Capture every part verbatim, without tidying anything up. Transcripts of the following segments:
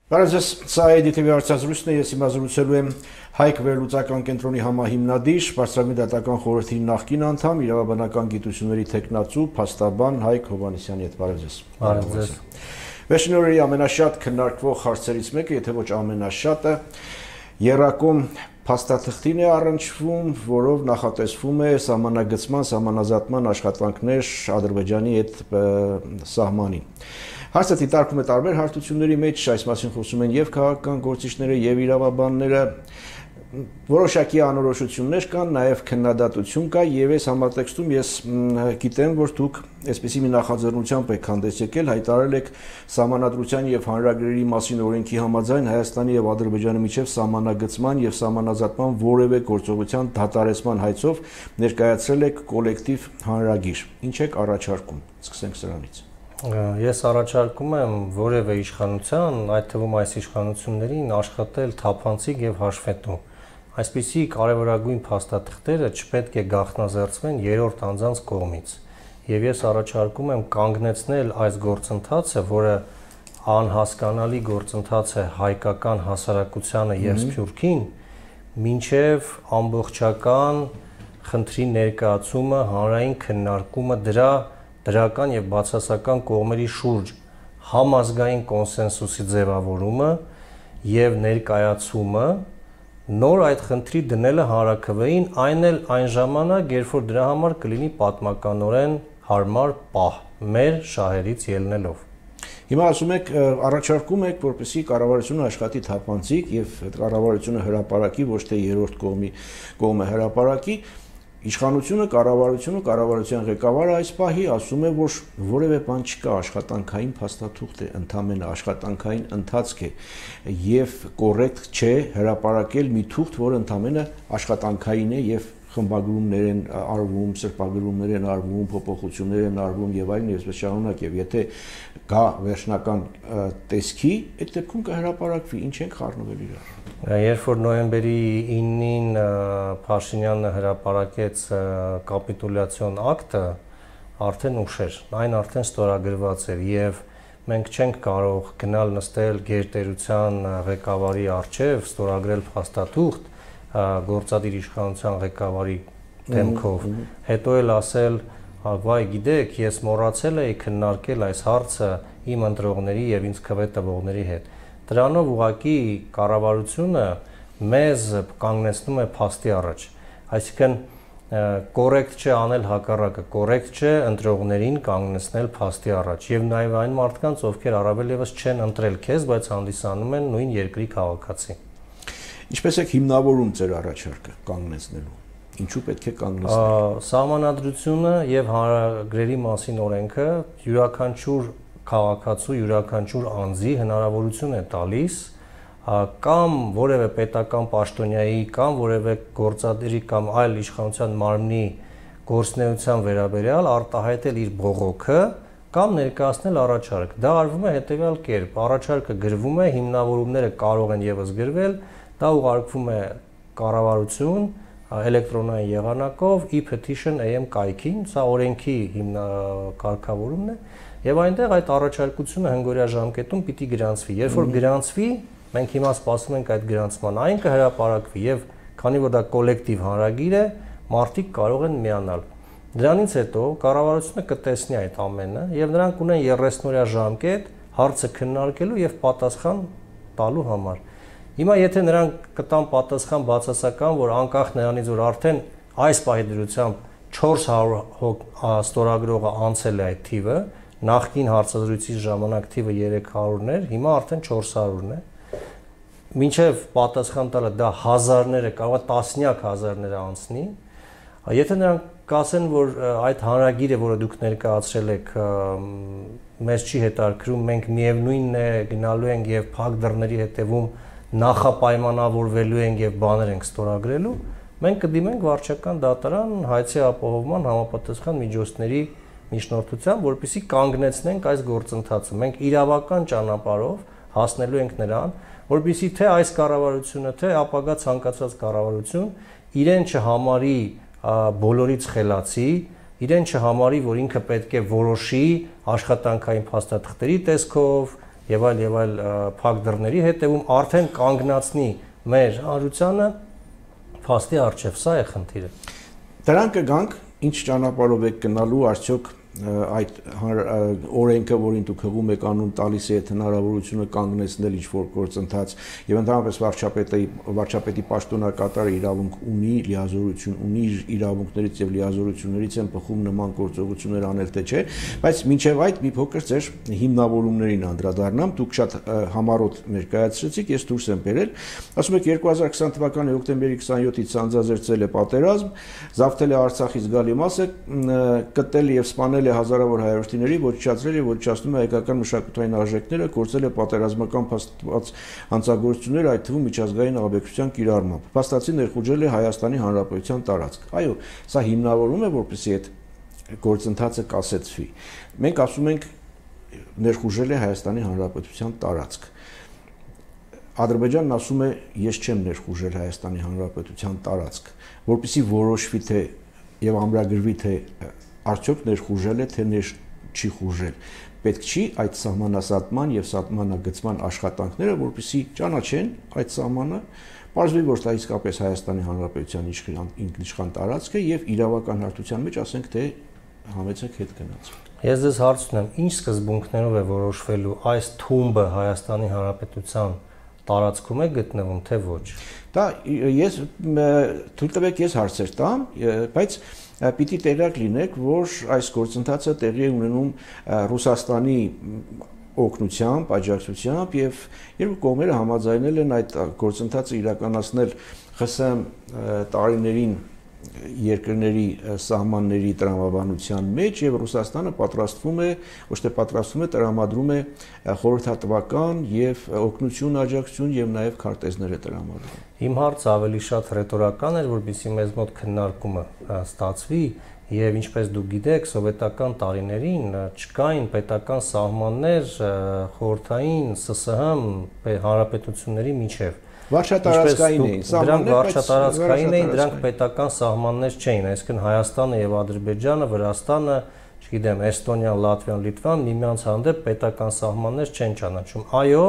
Բարև, սա է դի թի վի հարցազրույցն է, ես հիմա զրուցելու եմ Հայք վերլուծական կենտրոնի համահիմնադիր, Բարձրագույն դատական խորհրդի նախկին անդամ, իրավաբանական գիտությունների թեկնածու, փաստաբան Հայք Հովհաննիսյանի հետ։ Բարև ձեզ։ Բարև ձեզ։ Վերջին օրերի ամենաշատ քննարկվող հարցերից մեկը, եթե ոչ ամենաշատը, եռակում փաստաթղթին է առնչվում, որով նախատեսվում է սահմանագծման, սահմանազատման աշխատանքներ Ադրբեջանի հետ սահմանին։ Հարցը դիտարկում է տարբեր հարթությունների մեջ, այս մասին խոսում են եւ քաղաքական գործիչները, եւ իրավաբանները, որոշակի անորոշություններ կան, նաեւ քննադատություն կա, եւ այս համատեքստում ես գիտեմ, որ դուք այսպիսի մի նախաձեռնությամբ եք հանդես եկել, հայտարարել եք սահմանադրության եւ հանրագրերի մասին օրենքի համաձայն Հայաստանի եւ Ադրբեջանի միջեւ սահմանագծման եւ սահմանազատման որևէ գործողության դադարեցման հայցով ներկայացրել եք կոլեկտիվ հանրագիր։ Ինչ եք առաջարկում։ Սկսենք սրանից։ Ես առաջարկում եմ որևէ իշխանության, այդ թվում այս իշխանություններին աշխատել թափանցիկ եւ հաշվետու։ Այսպիսի կարևորագույն փաստաթղթերը չպետք է գաղտնազերծվեն երրորդ անձանց կողմից։ Եվ ես առաջարկում եմ կանգնեցնել այս գործընթացը, որը անհասկանալի գործընթաց է հայկական հասարակությանը եւ Սփյուռքին, մինչեւ ամբողջական խնդրի ներկայացումը, հանրային քննարկումը դրա դրական եւ բացասական կողմերի շուրջ համազգային կոնսենսուսի ձևավորումը եւ ներկայացումը նոր այդ խնդրի դնելը հանրաքվեին, այն էլ այն ժամանակ, երբ որ դրա համար կլինի պատմականորեն հարմար պահ մեր շահերից ելնելով։ Հիմա ասում եք, առաջարկում եք, որպեսզի կառավարությունը աշխատի թափանցիկ եւ կառավարությունը հրապարակի, ոչ թե երրորդ կողմի կողմը հրապարակի։ Իշխանությունը, կառավարությունը, կառավարության ղեկավարը այս պահի ասում է, որ որևէ բան չկա, աշխատանքային փաստաթուղթ է, ընդհանրապես աշխատանքային ընթացք է եւ կոռեկտ չէ հրապարակել մի թուղթ, որը ընդհանրապես աշխատանքային է եւ խմբագրումներ են արվում, սրբագրումներ են արվում, փոփոխություններ են արվում եւ այլն եւ այսպես շարունակ եւ եթե գա վերջնական տեսքի, այդ դեպքում կհրապարակվի, ինչ ենք խառնվել իրար։ Երբ որ նոյեմբերի իննին Փաշինյանը հրապարակեց կապիտուլյացիոն ակտը, արդեն ուշ էր, այն արդեն ստորագրված էր եւ մենք չենք կարող գնալ նստել գերտերության ղեկավարի առջև, ստորագրել փաստաթուղթ գործադիր իշխանության ղեկավարի դեմքով, հետո էլ ասել, վայ գիտեք, ես մոռացել էի քննարկել այս հարցը իմ ընտրողների եւ ինձ քվե տվողների հետ։ Դրանով ուղղակի կառավարությունը մեզ կանգնեցնում է փաստի առաջ, այսինքն կոռեկտ չէ անել հակառակը, կոռեկտ չէ ընտրողներին կանգնեցնել փաստի առաջ եւ նաեւ այն մարդկանց, ովքեր առավել եւս չեն ընտրել քեզ, բայց հանդիսանում են նույն երկրի քաղաքացի։ Ինչպես եք հիմնավորում ձեր առաջարկը կանգնեցնելու։ Ինչու պետք է կանգնեցնել։ Սահմանադրությունը եւ հանրագրերի մասին օրենքը յուրաքանչյուր քաղաքացու, յուրաքանչյուր անձի հնարավորություն է տալիս կամ որևէ պետական պաշտոնյայի կամ որևէ գործադիրի կամ այլ իշխանության մարմնի գործունեության վերաբերյալ արտահայտել իր բողոքը կամ ներկայացնել առաջարկ։ Դա արվում է հետեւյալ կերպ. առաջարկը գրվում է, հիմնավորումները կարող են եւս գրվել, դա ուղարկվում է կառավարություն էլեկտրոնային եղանակով e-petition A M կայքին, սա օրենքի հիմնակարգավորումն է, եւ այնտեղ այդ առաջարկությունը հնգորյա ժամկետում պիտի գրանցվի։ Երբ որ գրանցվի, մենք հիմա սպասում ենք այդ գրանցման, այն կհրապարակվի եւ քանի որ դա կոլեկտիվ հանրագիր է, մարդիկ կարող են միանալ։ Դրանից հետո կառավարությունը կտեսնի այդ ամենը եւ նրանք ունեն երեսնորյա ժամկետ հարցը քննարկելու եւ պատասխան տալու համար։ Հիմա եթե նրանք կտան պատասխան բացասական, որ անկախ նրանից որ արդեն այս պահի դրությամբ չորս հարյուր ստորագրողը անցել է այդ թիվը, նախկին հարցազրույցի ժամանակ թիվը երեք հարյուրն էր, հիմա արդեն չորս հարյուրն է։ Մինչև պատասխան տալը դա հազարները, կարող է տասնյակ հազարները անցնի։ Եթե նրանք կասեն, որ այդ հանրագիրը, որը դուք ներկայացրել եք, մեզ չի հետաքրքրում, մենք միևնույնն է գնալու ենք եւ փակ դռների հետևում նախապայմանավորվելու ենք եւ բաներ ենք ստորագրելու, մենք կդիմենք վարչական դատարան հայցի ապահովման համապատասխան միջոցների միջնորդությամբ, որպեսզի կանգնեցնենք այս գործընթացը։ Մենք իրավական ճանապարհով հասնելու ենք նրան, որպեսզի թե այս կառավարությունը, թե ապագա ցանկացած կառավարություն իրեն չհամարի բոլորից խելացի, իրեն չհամարի, որ ինքը պետք է որոշի աշխատանքային փաստաթղթերի տեսքով, եւ այլ եւ այլ փակ դռների հետևում արդեն կանգնացնի մեր հանրությանը փաստի արժեվ, սա է խնդիրը։ Դրան կգանք, ինչ ճանապարհով եք գնալու, արդյոք այդ օրենքը, որին դուք հղում եք անուն տալիս է այդ հնարավորությունը կանգնեցնել ինչ-որ գործընթաց եւ ընդհանրապես վարչապետի վարչապետի պաշտոնակատարը իրավունք ունի, լիազորություն ունի իրավունքներից եւ լիազորություններից են բխում նման գործողություններ անել թե չէ, բայց մինչեւ այդ մի փոքր ձեր հիմնավորումներին անդրադառնամ, դուք շատ համառոտ ներկայացրեցիք, ես դուրս եմ բերել, ասում եք երկու հազար քսան թվականի հոկտեմբերի քսանյոթից ցանցազերծել է պատերազմ, զավթել է Արցախից գալի մասը, կտել եւ սպանել հազարավոր հայրենիների, ոչնչացրել եւ ոչնչացնում է հայկական մշակութային արժեքները, կորցրել է պատերազմական փաստված հանցագործություններ, այդ թվում միջազգային աբեկցության կիրառմամբ։ Փաստացի ներխուժել է Հայաստանի Հանրապետության տարածք։ Այո, սա հիմնավորում է, որպեսզի այդ գործընթացը կասեցվի։ Մենք ասում ենք ներխուժել է Հայաստանի Հանրապետության տարածք։ Ադրբեջանն ասում է, ես չեմ ներխուժել Հայաստանի Հանրապետության տարածք, որպեսզի որոշվի թե եւ ամրագրվի թե արդյոք ներխուժել է թե ներ չի խուժել։ Պետք չի այդ սահմանասատման եւ սահմանագծման աշխատանքները, որպեսզի ճանաչեն այդ սահմանը, պարզվի, որ դա իսկապես Հայաստանի Հանրապետության ինքնիշխան տարածք է եւ իրավական հարթության մեջ ասենք թե համեցեք հետ գնաց։ Ես ձեզ հարց ունեմ, ինչ սկզբունքներով է որոշվելու այս թումբը Հայաստանի Հանրապետության տարածքում է գտնվում թե ոչ։ Դա ես թույլ տվեք ես հարցեր տամ, բայց պիտի տեղյակ լինեք, որ այս գործընթացը տեղի է ունենում Ռուսաստանի օգնությամբ, աջակցությամբ եւ երկու կողմերը համաձայնել են այդ գործընթացը իրականացնել ԽՍՀՄ տարիներին երկրների սահմանների տրամաբանության մեջ եւ Ռուսաստանը պատրաստվում է, ոչ թե պատրաստվում է, տրամադրում է խորհրդատվական եւ օգնություն, աջակցություն եւ նաեւ քարտեզներ է տրամադրում։ Իմ հարցը ավելի շատ ռետորական էր, որովհետեւ մեզ մոտ քննարկումը ստացվի եւ ինչպես դուք գիտեք, սովետական տարիներին չկային պետական սահմաններ խորհրդային ՍՍՀ հանրապետությունների միջև։ Վարչատարածքային էին, դրանք վարչատարածքային էին, դրանք պետական սահմաններ չէին, այսինքն Հայաստանը եւ Ադրբեջանը, Վրաստանը, չգիտեմ, Էստոնիան, Լատվիան, Լիտվան միմյանց հանդեպ պետական սահմաններ չեն ճանաչում։ Այո,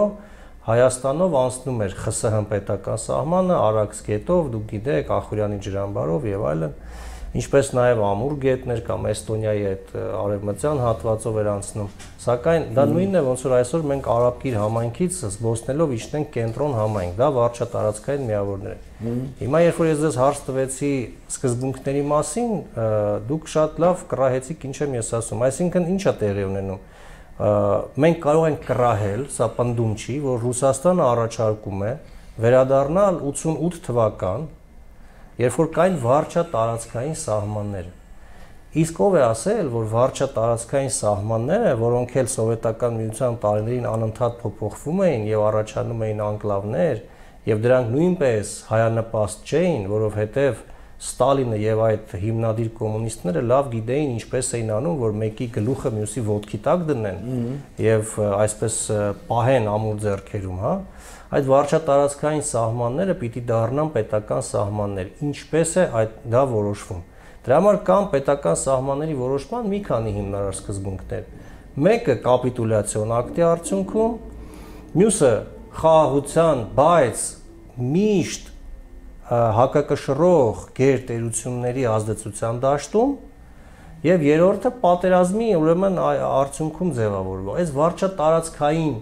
Հայաստանով անցնում էր ԽՍՀՄ պետական սահմանը, Արաքս գետով, դուք գիտեք, Ախուրյանի ջրամբարով եւ այլն, ինչպես նաեւ Ամուր գետներ կամ Էստոնիայի այդ արևմտյան հատվածով էր անցնում։ Սակայն դա նույնն է, ոնց որ այսօր մենք Արաբկիր համայնքից զբոսնելով իջնենք կենտրոն համայնք, դա վարչատարածքային միավորներ են։ Հիմա երբ որ ես ձեզ հարց տվեցի սկզբունքների մասին, դուք շատ լավ կռահեցիք ինչ եմ ես ասում, այսինքն ի՞նչ է տեղի ունենում։ Մենք կարող ենք կռահել, սա պնդում չի, որ Ռուսաստանը առաջարկում է վերադառնալ ութսունութ թվական, երբ որ կային վարչատարածքային սահմանները։ Իսկ ով է ասել, որ վարչատարածքային սահմանները, որոնք էլ սովետական միության տարիներին անընդհատ փոփոխվում էին եւ առաջանում էին անկլավներ, եւ դրանք նույնպես հայանպաստ չէին, որովհետեւ Ստալինը եւ այդ հիմնադիր կոմունիստները լավ գիտեին ինչպես էին անում, որ մեկի գլուխը մյուսի ոտքի տակ դնեն եւ այսպես պահեն ամուր ձեռքերում, հա։ Այդ վարչատարածքային սահմանները պիտի դառնան պետական սահմաններ։ Ինչպես է այդ դա որոշվում։ Դրա համար կան պետական սահմանների որոշման մի քանի հիմնարար սկզբունքներ։ Մեկը կապիտուլյացիոն ակտի արդյունքում, մյուսը խաղաղության, բայց միշտ հակակշռող գերտերությունների ազդեցության դաշտում եւ երրորդը պատերազմի ուրեմն արդյունքում ձևավորվող։ Այս վարչատարածքային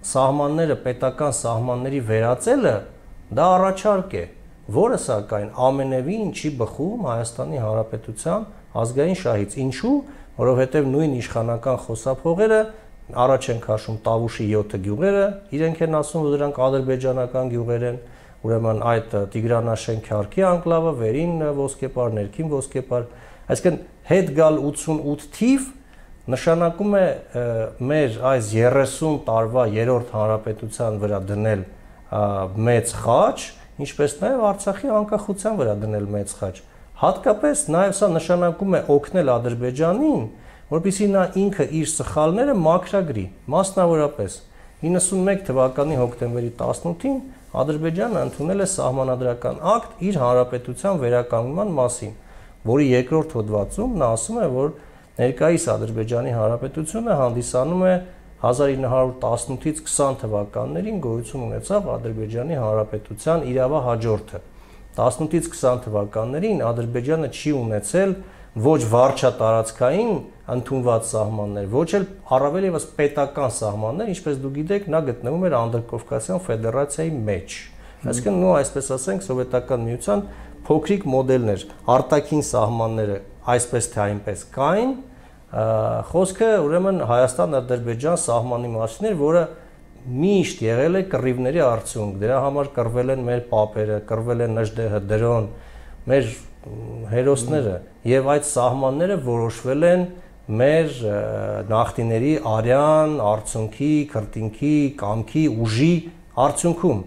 սահմանները պետական սահմանների վերածելը դա առաջարկ է, որը սակայն ամենևին չի բխում Հայաստանի Հանրապետության ազգային շահից։ Ինչու՞, որովհետեւ նույն իշխանական խոսափողերը առաջ են քաշում Տավուշի յոթ գյուղերը, իրենք են ասում, որ դրանք ադրբեջանական գյուղեր են, ուրեմն այդ Տիգրանաշեն Քյարքի անկլավը, վերին ոսկեպար, ներքին ոսկեպար, այսինքն հետ գալ ութսունութ թիվ նշանակում է մեր այս երեսուն տարվա երրորդ հանրապետության վրա դնել մեծ խաչ, ինչպես նաև Արցախի անկախության վրա դնել մեծ խաչ։ Հատկապես նաև սա նշանակում է օգնել Ադրբեջանին, որպեսզի նա ինքը իր սխալները մաքրագրի, մասնավորապես իննսունմեկ թվականի հոկտեմբերի տասնութին Ադրբեջանը ընդունել է սահմանադրական ակտ իր հանրապետության վերականգնման մասին, որի երկրորդ հոդվածում նա ասում է, որ ներկայիս Ադրբեջանի Հանրապետությունը հանդիսանում է հազար ինը հարյուր տասնութից քսան թվականներին գոյություն ունեցավ Ադրբեջանի Հանրապետության իրավահաջորդը։ տասնութից քսան թվականներին Ադրբեջանը չի ունեցել ոչ վարչատարածքային ընդունված սահմաններ, ոչ էլ առավել եւս պետական սահմաններ, ինչպես դուք գիտեք, նա գտնվում էր Անդրկովկասյան ֆեդերացիայի մեջ։ Այսինքն, նո այսպես ասենք, սովետական միության փոքրիկ մոդելներ, արտաքին սահմանները այսպես թե այնպես կային, խոսքը ուրեմն Հայաստան-Ադրբեջան սահմանի մասին էր, որը միշտ եղել է կռիվների արդյունք, դրա համար կռվել են մեր պապերը, կռվել են Նժդեհը, Դրոն, մեր հերոսները, եւ այդ սահմանները որոշվել են մեր նախնիների արյան, արդյունքի, քրտինքի, կամքի, ուժի արդյունքում։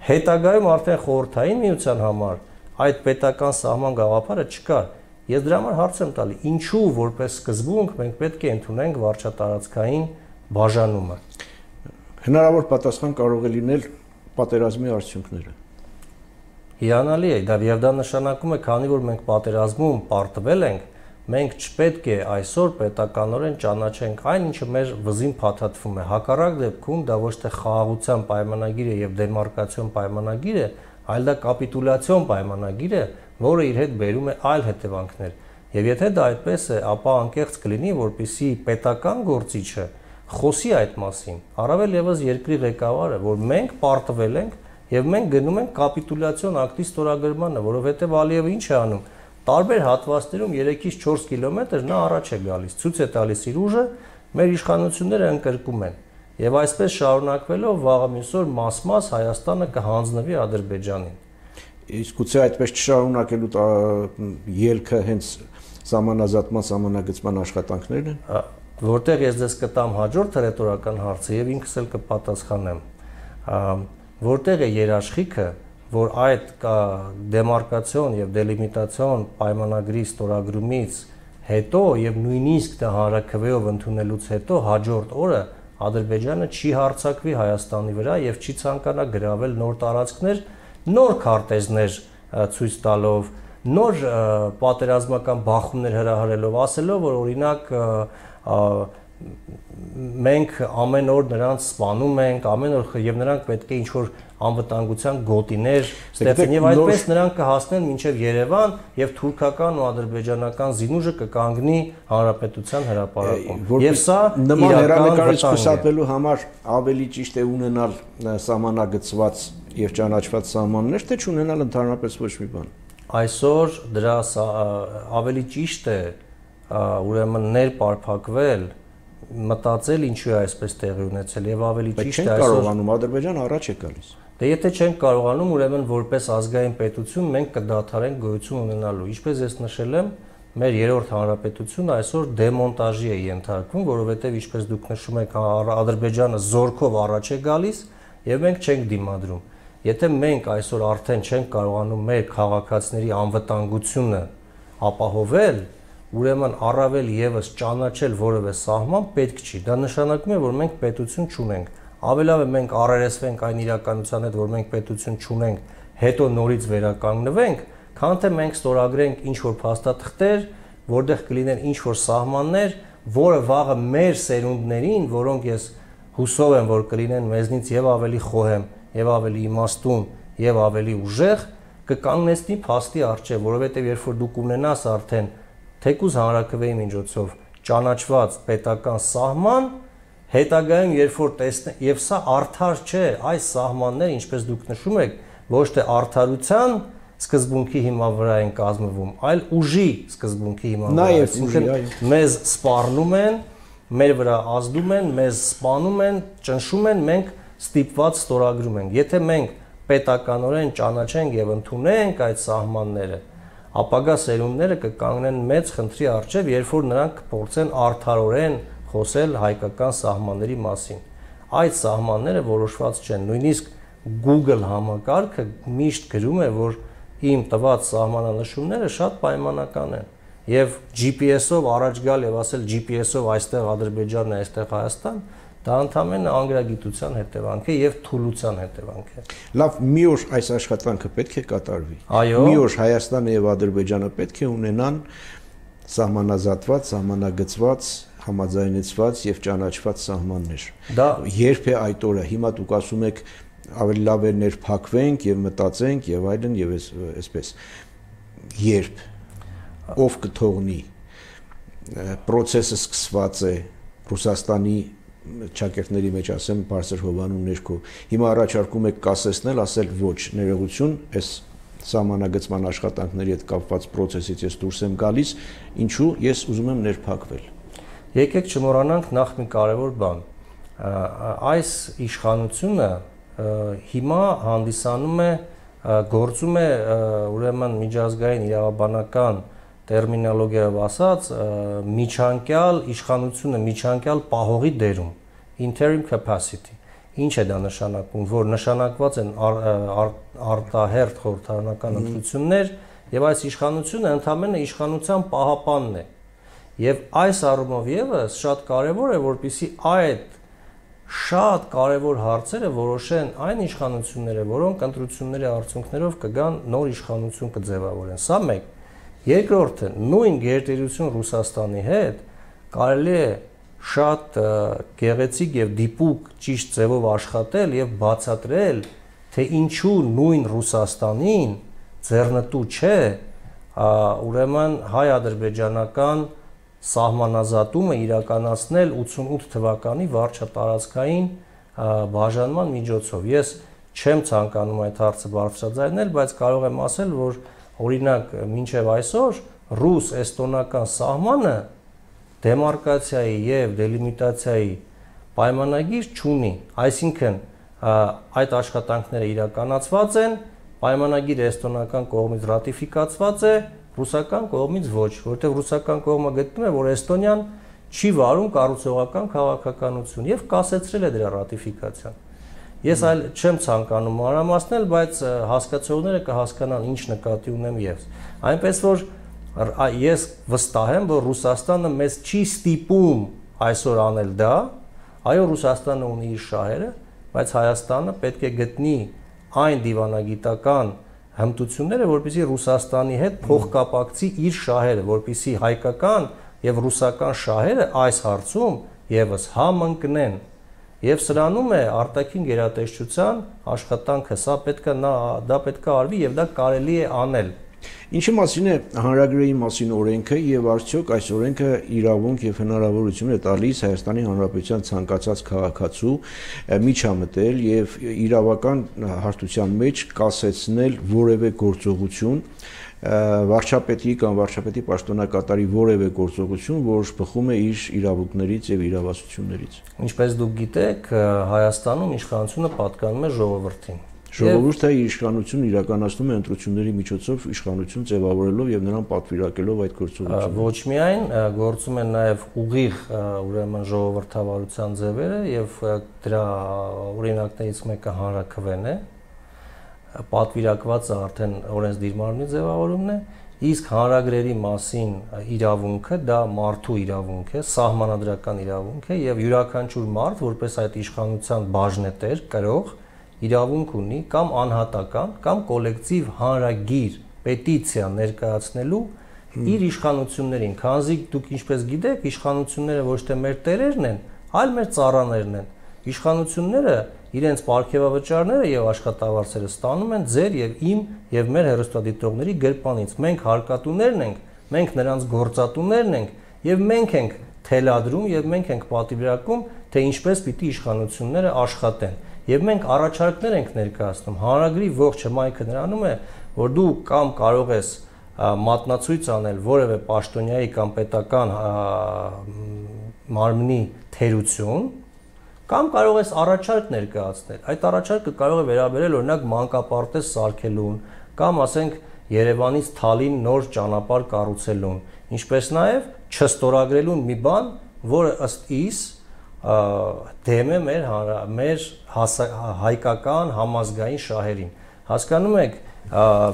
Հետագայում արդեն խորհրդային միության համար այդ պետական սահման գաղափարը չկար։ Ես դրա համար հարց եմ տալի, ինչու որպես սկզբունք մենք պետք է ընդունենք վարչատարածքային բաժանումը։ Հնարավոր պատասխան կարող է լինել պատերազմի արդյունքները։ Հիանալի է, դա եւ դա նշանակում է, քանի որ մենք պատերազմում պարտվել ենք, մենք չպետք է այսօր պետականորեն ճանաչենք այն, ինչը մեր վզին փաթաթվում է։ Հակառակ դեպքում դա ոչ թե խաղաղության պայմանագիր է եւ դեմարկացիոն պայմանագիր է, այլ դա կապիտուլյացիոն պայմանագիր է, որը իր հետ բերում է այլ հետևանքներ։ Եվ եթե դա այդպես է, ապա անկեղծ կլինի, որպեսզի պետական գործիչը խոսի այդ մասին, առավել եւս երկրի ղեկավարը, որ մենք պարտվել ենք եւ մենք գնում ենք կապիտուլյացիոն ակտի ստորագրմանը, որովհետեւ Ալիևը ինչ է անում, տարբեր հատվածներում երեքից չորս կիլոմետր նա առաջ է գալիս, ցույց է տալիս իր ուժը, մեր իշխանությունները ընկրկում են եւ այսպես շարունակվելով վաղը մյուս օր մաս-մաս Հայաստանը կհանձնվի Ադրբեջանին։ Իսկ գուցե այդպես չշարունակելու ելքը հենց սահմանազատման, սահմանագծման աշխատանքներն են։ Որտեղ ես ձեզ կտամ հաջորդ հռետորական հարցը եւ ինքս էլ կպատասխանեմ, որտեղ է երաշխիքը, որ այդ դեմարկացիոն եւ դելիմիտացիոն պայմանագրի ստորագրումից հետո եւ նույնիսկ դա հանրաքվեով ընդունելուց հետո հաջորդ օրը Ադրբեջանը չի հարձակվի Հայաստանի վրա եւ չի ցանկանա գրավել նոր տարածքներ, նոր քարտեզներ ցույց տալով, նոր պատերազմական բախումներ հրահրելով, ասելով, որ օրինակ մենք ամեն օր նրանց սպանում ենք, ամեն օր եւ նրանք պետք է ինչ-որ անվտանգության գոտիներ ստեղծեն եւ այդպես նրանք կհասնեն մինչեւ Երևան եւ թուրքական ու ադրբեջանական զինուժը կկանգնի հանրապետության հրապարակում։ Եվ սա նման հերանեկարից խուսափելու համար ավելի ճիշտ է ունենալ սահմանագծված եւ ճանաչված սահմաններ, թե չունենալ ընդհանրապես ոչ մի բան։ Այսօր դրա ավելի ճիշտ է ուրեմն ներպարփակվել, մտածել ինչու է այսպես տեղի ունեցել եւ ավելի ճիշտ է այսօր կարողանում Ադրբեջանը առաջ է գալիս։ Դե եթե չենք կարողանում, ուրեմն որպես ազգային պետություն մենք կդադարենք գոյություն ունենալու։ Ինչպես ես նշել եմ, մեր երրորդ հանրապետությունը այսօր դեմոնտաժի է ենթարկվում, որովհետեւ ինչպես դուք նշում եք, Ադրբեջանը զորքով առաջ է գալիս եւ մենք չենք դիմադրում։ Եթե մենք այսօր արդեն չենք կարողանում մեր քաղաքացիների անվտանգությունը ապահովել, ուրեմն առավել եւս ճանաչել որևէ սահման պետք չի։ Դա նշանակում է, որ մենք պետություն չունենք։ Ավելավ է մենք առերեսվենք այն իրականության հետ, որ մենք պետություն չունենք, հետո նորից վերականգնվենք, քան թե մենք ստորագրենք ինչ-որ փաստաթղթեր, որտեղ կլինեն ինչ-որ սահմաններ, որը վաղը մեր սերունդներին, որոնք ես հուսով եմ, որ կլինեն մեզնից եւ ավելի խոհեմ, եւ ավելի իմաստուն, եւ ավելի ուժեղ, կկանգնեցնի փաստի առջեւ, որովհետեւ երբ որ դուք ունենաս արդեն թեկուզ հանրաքվեի միջոցով ճանաչված պետական սահման, հետագայում երբ որ տեսնեն, եւ սա արդար չէ, այս սահմանները, ինչպես դուք նշում եք, ոչ թե արդարության սկզբունքի հիման վրա են կազմվում, այլ ուժի սկզբունքի հիման վրա։ Այսինքն մեզ սպառնում են, մեր վրա ազդում են, մեզ սպանում են, ճնշում են, մենք ստիպված ստորագրում ենք։ Եթե մենք պետականորեն ճանաչենք եւ ընդունենք այդ սահմանները, ապագա սերունդները կկանգնեն մեծ խնդրի առջև, երբ որ նրանք կփորձեն արդարորեն խոսել հայկական սահմանների մասին։ Այդ սահմանները որոշված չեն։ Նույնիսկ Google համակարգը միշտ գրում է, որ իմ տված սահմանանշումները շատ պայմանական են։ Եվ G P S-ով առաջ գալ եւ ասել G P S-ով այստեղ Ադրբեջանն է, այստեղ Հայաստան, դա ընդհանրապես անգրագիտության հետևանք է եւ թուլության հետևանք է։ Լավ, մի օր այս աշխատանքը պետք է կատարվի։ Այո։ Մի օր Հայաստանը եւ Ադրբեջանը պետք է ունենան սահմանազատված, սահմանագծված, համաձայնեցված եւ ճանաչված սահմաններ։ Դա երբ է այդ օրը, հիմա դուք ասում եք ավելի լավ է ներփակվենք եւ մտածենք եւ այլն եւ այսպես։ Երբ ով կթողնի process-ը սկսված է Ռուսաստանի ճակերտների մեջ ասեմ բարձր հովանու ներքո։ Հիմա առաջարկում եք կասեցնել, ասել ոչ, ներողություն, այս սահմանագծման աշխատանքների հետ կապված process-ից ես դուրս եմ գալիս, ինչու ես ուզում եմ ներփակվել։ Եկեք չմոռանանք նախ մի կարևոր բան։ Այս իշխանությունը հիմա հանդիսանում է գործում է ուրեմն միջազգային իրավաբանական տերմինոլոգիայով ասած միջանկյալ իշխանությունը միջանկյալ պահողի դերում interim capacity ինչ է դա նշանակում որ նշանակված են արտահերթ խորհրդարանական ընտրություններ եւ այս իշխանությունը ընդհանրապես իշխանության պահապանն է եւ այս առումով եւս շատ կարեւոր է որպեսզի այդ շատ կարևոր հարցերը որոշեն այն իշխանությունները որոնք ընտրությունների արդյունքներով կգան նոր իշխանություն կձևավորեն սա մեկ երկրորդը նույն գերտերություն Ռուսաստանի հետ կարելի է շատ գեղեցիկ եւ դիպուկ ճիշտ ձևով աշխատել եւ բացատրել թե ինչու նույն Ռուսաստանին ձեռնտու չէ ուրեմն հայ-ադրբեջանական սահմանազատումը իրականացնել ութսունութ թվականի վարչատարածքային բաժանման միջոցով ես չեմ ցանկանում այդ հարցը բարձրաձայնել բայց կարող եմ ասել որ օրինակ մինչև այսօր ռուս-էստոնական սահմանը դեմարկացիայի եւ դելիմիտացիայի պայմանագիր չունի, այսինքն այդ աշխատանքները իրականացված են, պայմանագիրը էստոնական կողմից ռատիֆիկացված է, ռուսական կողմից ոչ, որտեղ ռուսական կողմը գտնում է, որ Էստոնիան չի վարում կառուցողական քաղաքականություն եւ կասեցրել է դրա ռատիֆիկացիան։ Ես այլ չեմ ցանկանում մանրամասնել, բայց հասկացողները կհասկանան ինչ նկատի ունեմ ես։ Այնպես որ ես վստահ եմ, որ Ռուսաստանը մեզ չի ստիպում այսօր անել դա, այո Ռուսաստանը ունի իր շահերը, բայց Հայաստանը պետք է գտնի այն դիվանագիտական հմտությունները, որպեսզի Ռուսաստանի հետ փոխկապակցի իր շահերը, որպեսզի հայկական եւ ռուսական շահերը այս հարցում եւս համընկնեն։ Եվ սրանում է արտաքին գերատեսչության աշխատանքը, սա պետք է դա պետք է արվի եւ դա կարելի է անել։ Ինչի մասին է հանրագրերի մասին օրենքը եւ արդյոք այս օրենքը իրավունք եւ հնարավորություն է տալիս Հայաստանի Հանրապետության ցանկացած քաղաքացու միջամտել եւ իրավական հարթության մեջ կասեցնել որևէ գործողություն վարչապետի կամ վարչապետի պաշտոնակատարի որևէ գործողություն, որ բխում է իր իրավունքներից եւ իրավասություններից։ Ինչպես դուք գիտեք, Հայաստանում իշխանությունը պատկանում է ժողովրդին։ Ժողովուրդը իր իշխանությունն իրականացնում է ընտրությունների միջոցով իշխանություն ձևավորելով եւ նրան պատվիրակելով այդ գործողությունը։ Ոչ միայն գործում են նաեւ ուղիղ ուրեմն ժողովրդավարության ձևերը եւ դրա օրինակներից մեկը հանրաքվեն է, պատվիրակված է արդեն օրենսդիր մարմնի ձևավորումն է, իսկ հանրագրերի մասին իրավունքը դա մարդու իրավունք է, սահմանադրական իրավունք է եւ յուրաքանչյուր մարդ, որպես այդ իշխանության բաժնետեր, կրող իրավունք ունի կամ անհատական կամ կոլեկտիվ հանրագիր պետիցիա ներկայացնելու իր իշխանություններին, քանզի դուք ինչպես գիտեք, իշխանությունները ոչ թե մեր տերերն են, այլ մեր ծառաներն են։ Իշխանությունները իրենց պարգևավճարները եւ աշխատավարձերը ստանում են ձեր եւ իմ եւ մեր հեռուստադիտողների գրպանից։ Մենք հարկատուներն ենք, մենք նրանց գործատուներն ենք եւ մենք ենք թելադրում եւ մենք ենք պատվիրակում, թե ինչպես պիտի իշխանությունները աշխատեն։ Եվ մենք առաջարկներ ենք ներկայացնում։ Հանրագրի ողջ հմայքը նրանում է, որ դու կամ կարող ես մատնացույց անել որևէ պաշտոնյայի կամ պետական մարմնի թերություն, կամ կարող ես առաջարկ ներկայացնել։ Այդ առաջարկը կարող է վերաբերել օրինակ մանկապարտեզ սարքելուն, կամ ասենք Երևանից Թալին նոր ճանապարհ կառուցելուն, ինչպես նաև չստորագրելուն մի բան, որը ըստ իս դեմ է մեր մեր հայկական համազգային շահերին։ Հասկանում եք,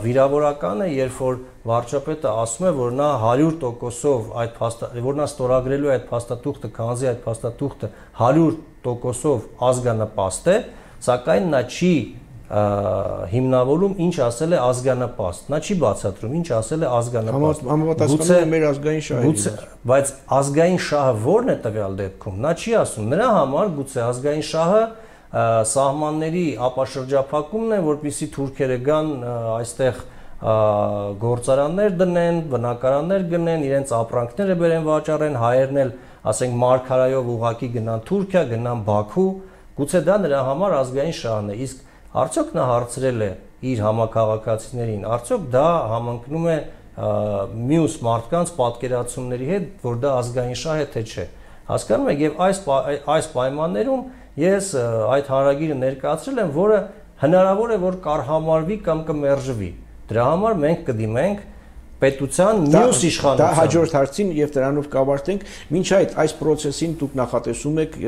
վիրավորականը, երբ որ վարչապետը ասում է, որ նա հարյուր տոկոսով այդ փաստա, որ նա ստորագրելու է այդ փաստաթուղթը, քանզի այդ փաստաթուղթը հարյուր տոկոսով ազգանպաստ է, սակայն նա չի հիմնավորում ինչ ասել է ազգանապաստ։ Նա չի բացատրում ինչ ասել է ազգանապաստ։ Համապատասխանում է մեր ազգային շահերի։ Բայց ազգային շահը ո՞րն է տվյալ դեպքում։ Նա չի ասում։ Նրա համար գուցե ազգային շահը սահմանների ապաշրջափակումն է, որպեսզի թուրքերը գան այստեղ գործարաններ դնեն, բնակարաններ գնեն, իրենց ապրանքները բերեն վաճառեն, հայերն էլ, ասենք, մարգարայով ուղակի գնան Թուրքիա, գնան Բաքու, գուցե դա նրա համար ազգային շահն է։ Իսկ արդյոք նա հարցրել է իր համակարգացիներին, արդյոք դա համընկնում է մյուս մարդկանց պատկերացումների հետ, որ դա ազգային շահ է, թե չէ։ Հասկանում եք, եւ այս այս պայմաններում ես այդ հանրագիրը ներկայացրել եմ, որը հնարավոր է որ կարհամարվի կամ կմերժվի։ Դրա համար մենք կդիմենք պետության մյուս իշխանության։ Դա հաջորդ հարցին եւ դրանով կավարտենք։ Մինչ այդ այս process-ին դուք նախատեսում եք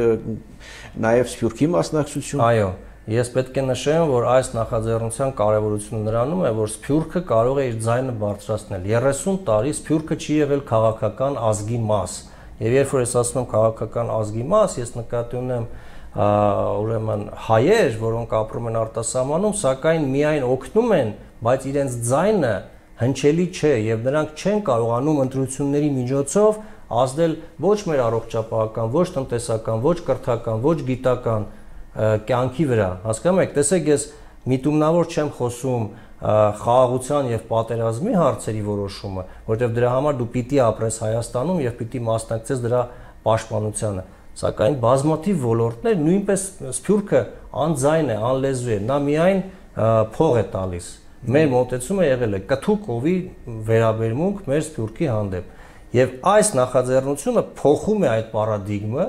նաեւ Սփյուռքի մասնակցություն։ Այո, ես պետք է նշեմ, որ այս նախաձեռնության կարևորությունը նրանում է, որ Սփյուռքը կարող է իր ձայնը բարձրացնել։ երեսուն տարի Սփյուռքը չի եղել քաղաքական ազգի մաս։ Եվ երբ որ ես ասում եմ քաղաքական ազգի մաս, ես նկատի ունեմ ուրեմն հայեր, որոնք ապրում են արտասահմանում, սակայն միայն օգնում են, բայց իրենց ձայնը հնչելի չէ եւ նրանք չեն կարողանում ընտրությունների միջոցով ազդել ոչ մեր առողջապահական, ոչ տնտեսական, ոչ կրթական, ոչ գիտական կյանքի վրա։ Հասկանում եք, տեսեք, ես միտումնավոր չեմ խոսում խաղաղության եւ պատերազմի հարցերի որոշումը, որտեղ դրա համար դու պիտի ապրես Հայաստանում եւ պիտի մասնակցես դրա պաշտպանությանը։ Սակայն բազմաթիվ ոլորտներ նույնպես Սփյուռքը անձայն է, անլեզու է, նա միայն փող է տալիս։ Մեր մոտեցումը եղել է կթուկովի վերաբերմունք մեր Սփյուռքի հանդեպ։ Եվ այս նախաձեռնությունը փոխում է այդ պարադիգմը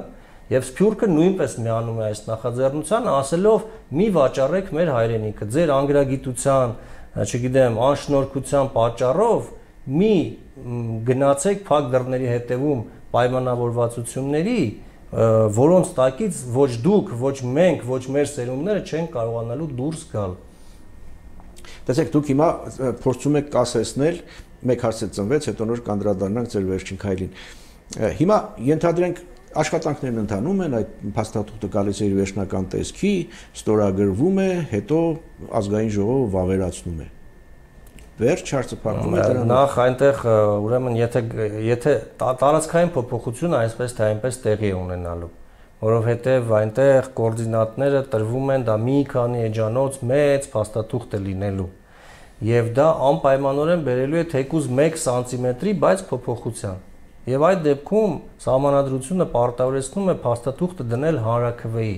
եւ Սփյուռքը նույնպես միանում է այս նախաձեռնությանը, ասելով՝ մի վաճառեք մեր հայրենիքը, ձեր անգրագիտության, չգիտեմ, անշնորհքության պատճառով մի գնացեք փակ դռների հետևում պայմանավորվածությունների, որոնց տակից ոչ դուք, ոչ մենք, ոչ մեր սերունդները չեն կարողանալու դուրս գալ։ Տեսեք, դուք հիմա փորձում եք կասեցնել, մեկ հարց է ծնվեց, հետո նոր կանդրադառնանք ձեր վերջին քայլին։ Հիմա ենթադրենք աշխատանքներն ընթանում են, այդ փաստաթուղթը գալիս է իր վերջնական տեսքի, ստորագրվում է, հետո ազգային ժողովը վավերացնում է։ Վերջ հարցը փակվում է դրանով։ Նախ այնտեղ ուրեմն եթե եթե տարածքային փոփոխությունը այսպես թե այնպես տեղի է ունենալու, որովհետև այնտեղ կոորդինատները տրվում են դա մի քանի էջանոց մեծ փաստաթուղթ է լինելու, եւ դա անպայմանորեն բերելու է թեկուզ մեկ սանտիմետրի, բայց փոփոխության։ Եվ այդ դեպքում սահմանադրությունը պարտավորեցնում է փաստաթուղթը դնել հանրաքվեի։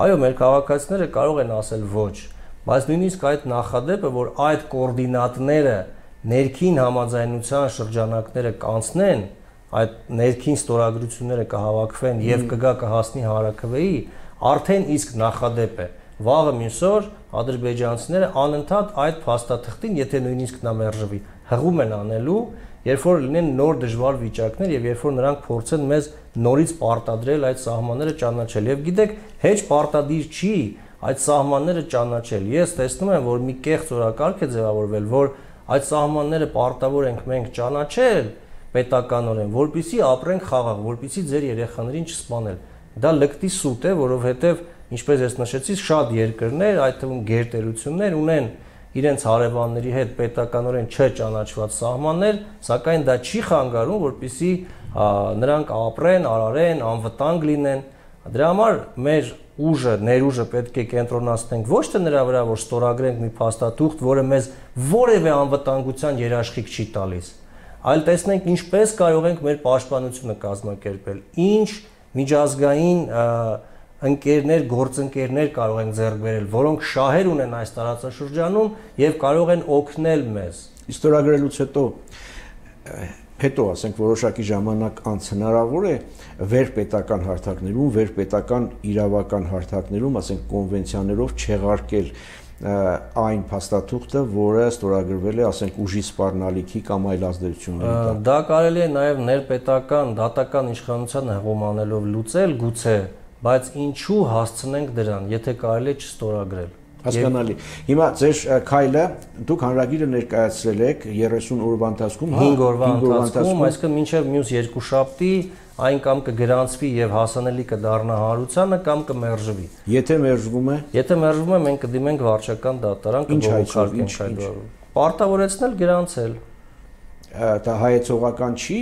Այո, մեր քաղաքացիները կարող են ասել ոչ, բայց նույնիսկ այդ նախադեպը, որ այդ կոորդինատները ներքին համաձայնության շրջանակները կանցնեն, այդ ներքին ստորագրությունները կհավաքվեն եւ կգա կհասնի հանրաքվեի, արդեն իսկ նախադեպ է։ Վաղը մյուս օր ադրբեջանցիները անընդհատ այդ փաստաթղթին, եթե նույնիսկ նա մերժվի, հղում են անելու, երբ որ լինեն նոր դժվար վիճակներ եւ երբ որ նրանք փորձեն մեզ նորից պարտադրել այդ սահմանները ճանաչել։ Եվ գիտեք, հեչ պարտադիր չի այդ սահմանները ճանաչել։ Ես տեսնում եմ, որ մի կեղծ օրակարգ է ձևավորվել, որ այդ սահմանները պարտավոր ենք մենք ճանաչել պետականորեն, որպեսզի ապրենք խաղաղ, որպեսզի ձեր երեխաներին չսպանել։ Դա լկտի սուտ է, որովհետեւ ինչպես ես նշեցի, շատ երկրներ, այդ թվում գերտերություններ ունեն իրենց հարևանների հետ պետականորեն չճանաչված սահմաններ, սակայն դա չի խանգարում, որպեսզի նրանք ապրեն, արարեն, անվտանգ լինեն։ Դրա համար մեր ուժը, ներուժը պետք է կենտրոնացնենք ոչ թե նրա վրա, որ ստորագրենք մի փաստաթուղթ, որը մեզ որևէ անվտանգության երաշխիք չի տալիս, այլ տեսնենք ինչպես կարող ենք մեր պաշտպանությունը կազմակերպել, ինչ միջազգային ընկերներ, գործընկերներ կարող են ձեռք բերել, որոնք շահեր ունեն այս տարածաշրջանում եւ կարող են օգնել մեզ։ Ստորագրելուց հետո հետո ասենք որոշակի ժամանակ անց հնարավոր է վերպետական հարթակներում, վերպետական իրավական հարթակներում, ասենք կոնվենցիաներով չեղարկել այն փաստաթուղթը, որը ստորագրվել է, ասենք ուժի սպառնալիքի կամ այլ ազդեցությունների տակ։ Դա կարելի է նաև ներպետական, դատական իշխանության հղում անելով լուծել, գուցե, բայց ինչու հասցնենք դրան, եթե կարելի է չստորագրել։ Հասկանալի։ Հիմա ձեր քայլը դուք հանրագիրը ներկայացրել եք երեսուն օրվա ընթացքում, հինգ օրվա ընթացքում, այսինքն մինչև մյուս երկուշաբթի այն կամ կգրանցվի եւ հասանելի կդառնա հանրությանը կամ կմերժվի։ Եթե մերժվում է, Եթե մերժվում է, մենք կդիմենք վարչական դատարան, կբողոքարկենք այդ բանը։ Պարտավորեցնել գրանցել։ դա հայեցողական չի,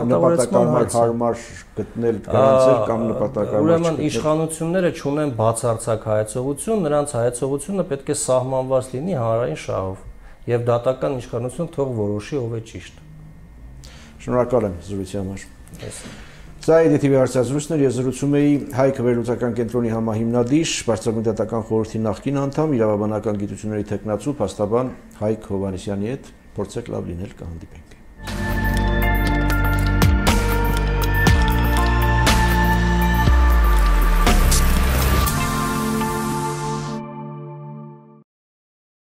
նպատակարար հարմար գտնել գրանցել կամ նպատակարար Ուրեմն իշխանությունները չունեն բացարձակ հայեցողություն, նրանց հայեցողությունը պետք է սահմանված լինի հանրային շահով եւ դատական իշխանությունը թող որոշի ով է ճիշտ։ Շնորհակալ եմ զրույցի համար։ Սա է դե թի վի հարցազրույցն էր, ես զրուցում էի Հայք վերլուծական կենտրոնի համահիմնադիր, Բարձրագույն դատական խորհրդի նախկին անդամ, իրավաբանական գիտությունների թեկնածու, փաստաբան Հայք Հովհաննիսյանի հետ, փորձեք լավ լինել, կհանդիպենք։